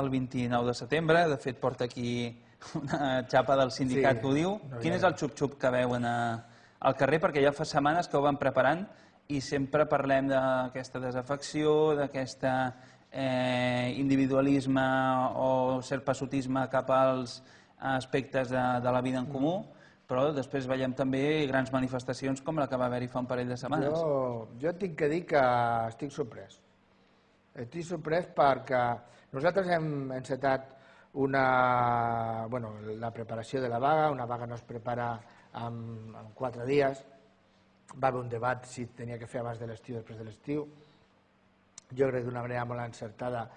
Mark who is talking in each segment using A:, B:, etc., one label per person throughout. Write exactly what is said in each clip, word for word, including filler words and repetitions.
A: el vint-i-nou de setembre, de fet porta aquí una xapa del sindicat que ho diu. Quin és el xup-xup que veuen al carrer? Perquè ja fa setmanes que ho van preparant i sempre parlem d'aquesta desafecció, d'aquest individualisme o cert passotisme cap als aspectes de la vida en comú, però després veiem també grans manifestacions com la que va haver-hi fa un parell de setmanes.
B: Jo tinc que dir que estic sorprès. Estic sorprès perquè nosaltres hem encetat la preparació de la vaga. Una vaga no es prepara en quatre dies. Va haver un debat si tenia que fer abans de l'estiu o després de l'estiu. Jo crec d'una manera molt encertada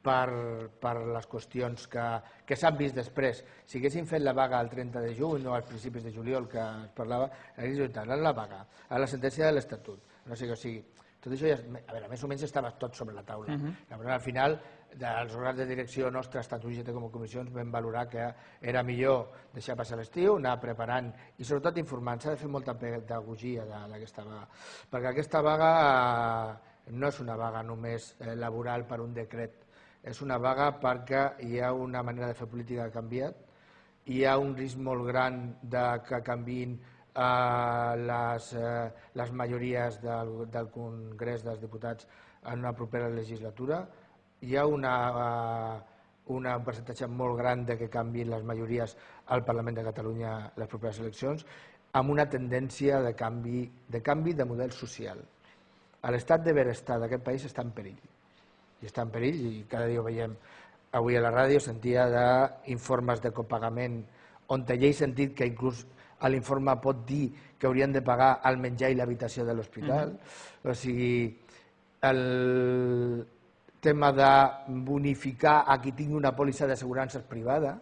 B: per les qüestions que s'han vist després. Si haguéssim fet la vaga el trenta de juny o als principis de juliol que es parlava, haguéssim instal·lat la vaga, a la sentència de l'Estatut. No sé què, o sigui, tot això ja, a veure, més o menys estava tot sobre la taula. Al final, dels òrgans de direcció nostres, tant U G T com comissions, vam valorar que era millor deixar passar l'estiu, anar preparant i sobretot informant. S'ha de fer molta pedagogia d'aquesta vaga, perquè aquesta vaga no és una vaga només laboral per un decret, és una vaga perquè hi ha una manera de fer política que ha canviat, hi ha un risc molt gran que canviïn les majories del Congrés dels Diputats en una propera legislatura, hi ha un percentatge molt gran que canviïn les majories al Parlament de Catalunya en les properes eleccions, amb una tendència de canvi de model social. L'estat de benestar d'aquest país està en perill, i està en perill, i cada dia ho veiem. Avui a la ràdio sentia d'informes de copagament on ja he sentit que inclús l'informe pot dir que haurien de pagar el menjar i l'habitació de l'hospital. O sigui, el tema de bonificar a qui tingui una pòlissa d'assegurances privada,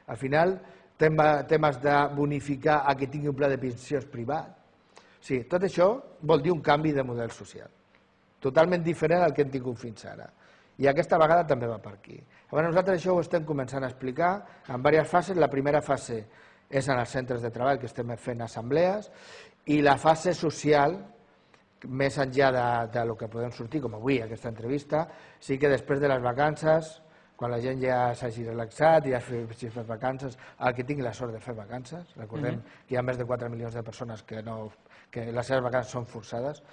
B: al final, temes de bonificar a qui tingui un pla de pensions privat. O sigui, tot això vol dir un canvi de model social, totalment diferent al que hem tingut fins ara. I aquesta vegada també va per aquí. Nosaltres això ho estem començant a explicar en diverses fases. La primera fase és en els centres de treball, que estem fent assemblees, i la fase social, més enllà del que podem sortir, com avui, aquesta entrevista, sí que després de les vacances, quan la gent ja s'hagi relaxat i ja hagi fet vacances, el que tingui la sort de fer vacances, recordem que hi ha més de quatre milions de persones que les seves vacances són forçades,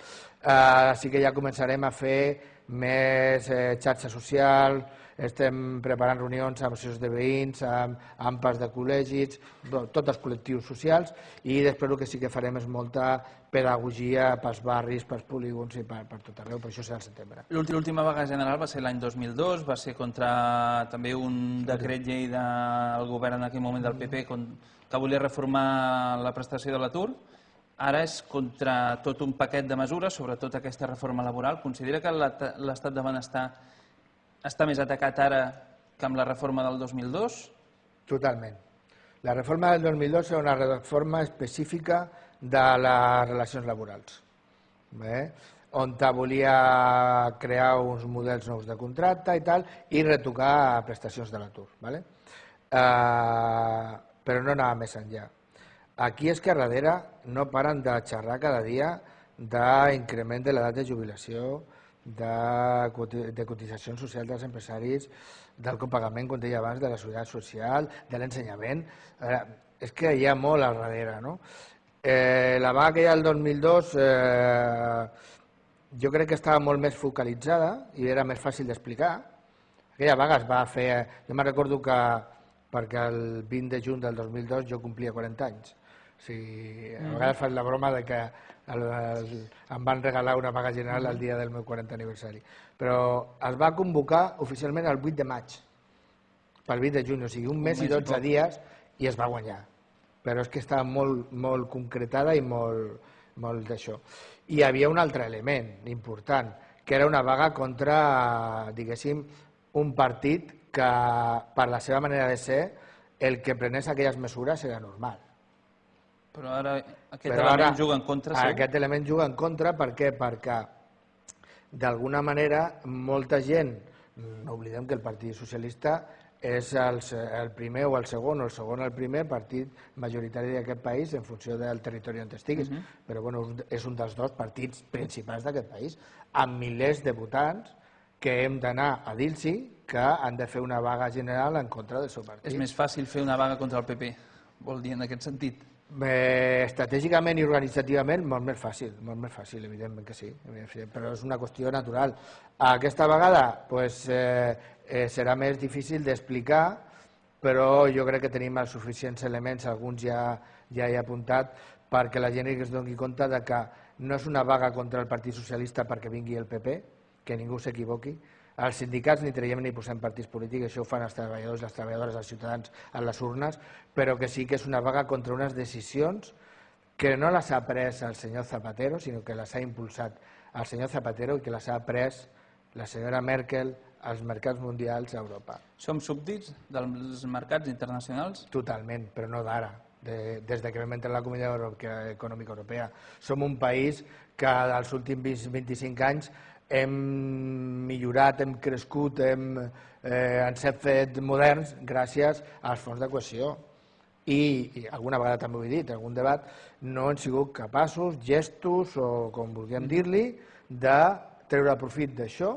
B: sí que ja començarem a fer més xarxa social, estem preparant reunions amb associacions de veïns, amb A M P As de col·legis, tots els col·lectius socials, i després el que sí que farem és molta pedagogia pels barris, pels polígons i per tot arreu, per això serà al setembre.
A: L'última vaga general va ser l'any dos mil dos, va ser contra també un decret llei del govern en aquell moment del P P que volia reformar la prestació de l'atur. Ara és contra tot un paquet de mesures, sobretot aquesta reforma laboral. Considera que l'estat de benestar està més atacat ara que amb la reforma del dos mil dos?
B: Totalment. La reforma del dos mil dos era una reforma específica de les relacions laborals, on volia crear uns models nous de contracte i tal, i retocar prestacions de l'atur. Però no anava més enllà. Aquí és que darrere no paren de xerrar cada dia d'increment de l'edat de jubilació, de cotitzacions socials dels empresaris, del copagament, com deia abans, de la seguretat social, de l'ensenyament. És que hi ha molt al darrere. La vaga que hi ha el dos mil dos jo crec que estava molt més focalitzada i era més fàcil d'explicar. Aquella vaga es va fer... Jo me'n recordo que perquè el vint de juny del dos mil dos jo complia quaranta anys. A vegades faig la broma que em van regalar una vaga general el dia del meu quarantè aniversari. Però es va convocar oficialment el vuit de maig, pel vint de juny, o sigui, un mes i dotze dies, i es va guanyar. Però és que estava molt concretada i molt d'això. I hi havia un altre element important, que era una vaga contra, diguéssim, un partit que, per la seva manera de ser, el que prenés aquelles mesures era normal.
A: Però ara aquest element juga en contra, sí?
B: Aquest element juga en contra, per què? Perquè, d'alguna manera, molta gent, no oblidem que el Partit Socialista és el primer o el segon, o el segon o el primer partit majoritari d'aquest país en funció del territori on estiguis, però és un dels dos partits principals d'aquest país, amb milers de votants que hem d'anar a dir-los que han de fer una vaga general en contra del seu partit.
A: És més fàcil fer una vaga contra el P P, vol dir en aquest sentit?
B: Eh, estratègicament i organitzativament molt més fàcil, molt més fàcil, evidentment que sí, però és una qüestió natural. Aquesta vegada pues, eh, eh, serà més difícil d'explicar, però jo crec que tenim els suficients elements, alguns ja, ja he apuntat, perquè la gent es doni compte de que no és una vaga contra el Partit Socialista perquè vingui el P P, que ningú s'equivoqui. Els sindicats ni traiem ni posem partits polítics, això ho fan els treballadors, les treballadores, els ciutadans en les urnes, però que sí que és una vaga contra unes decisions que no les ha pres el senyor Zapatero, sinó que les ha impulsat el senyor Zapatero i que les ha pres la senyora Merkel als mercats mundials a Europa.
A: Som súbdits dels mercats internacionals?
B: Totalment, però no d'ara. De, des que vam entrar a la Comunitat Econòmica Europea. Som un país que als últims vint-i-cinc anys hem millorat, hem crescut, hem, eh, ens hem fet moderns gràcies als fons de cohesió. I, i alguna vegada també ho he dit, en algun debat, no hem sigut capaços, gestos o com vulguem dir-li, de treure profit d'això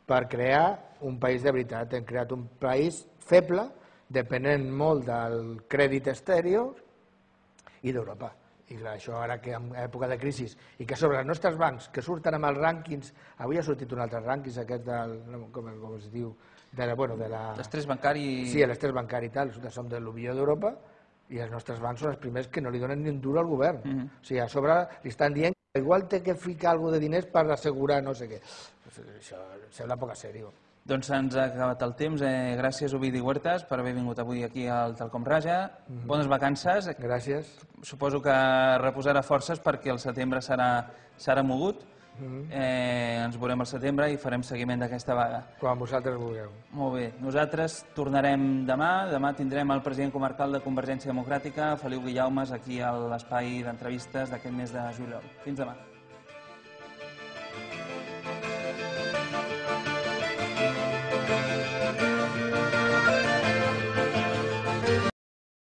B: per crear un país de veritat. Hem creat un país feble, depenent molt del crèdit exterior i d'Europa. I clar, això ara que en època de crisi i que sobre els nostres bancs que surten amb els rànquings, avui ha sortit un altre rànquing, aquest del, com, com es diu, de la, bueno, de la...
A: L'estrès bancari...
B: Sí, l'estrès bancari i tal, som de l'Unió d'Europa i els nostres bancs són els primers que no li donen ni un duro al govern. Uh -huh. O sigui, a sobre li estan dient que igual té que ficar alguna de diners per assegurar no sé què. Això sembla poc seriós.
A: Doncs ens ha acabat el temps. Eh, gràcies, Ovidi Huertas, per haver vingut avui aquí al Talcom Raja. Mm-hmm. Bones vacances.
B: Gràcies.
A: Suposo que reposarà forces perquè el setembre serà, serà mogut. Mm-hmm. eh, ens veurem al setembre i farem seguiment d'aquesta vaga.
B: Quan vosaltres vulgueu.
A: Molt bé. Nosaltres tornarem demà. Demà tindrem el president comarcal de Convergència Democràtica, Feliu Guillaumes, aquí a l'espai d'entrevistes d'aquest mes de juliol. Fins demà.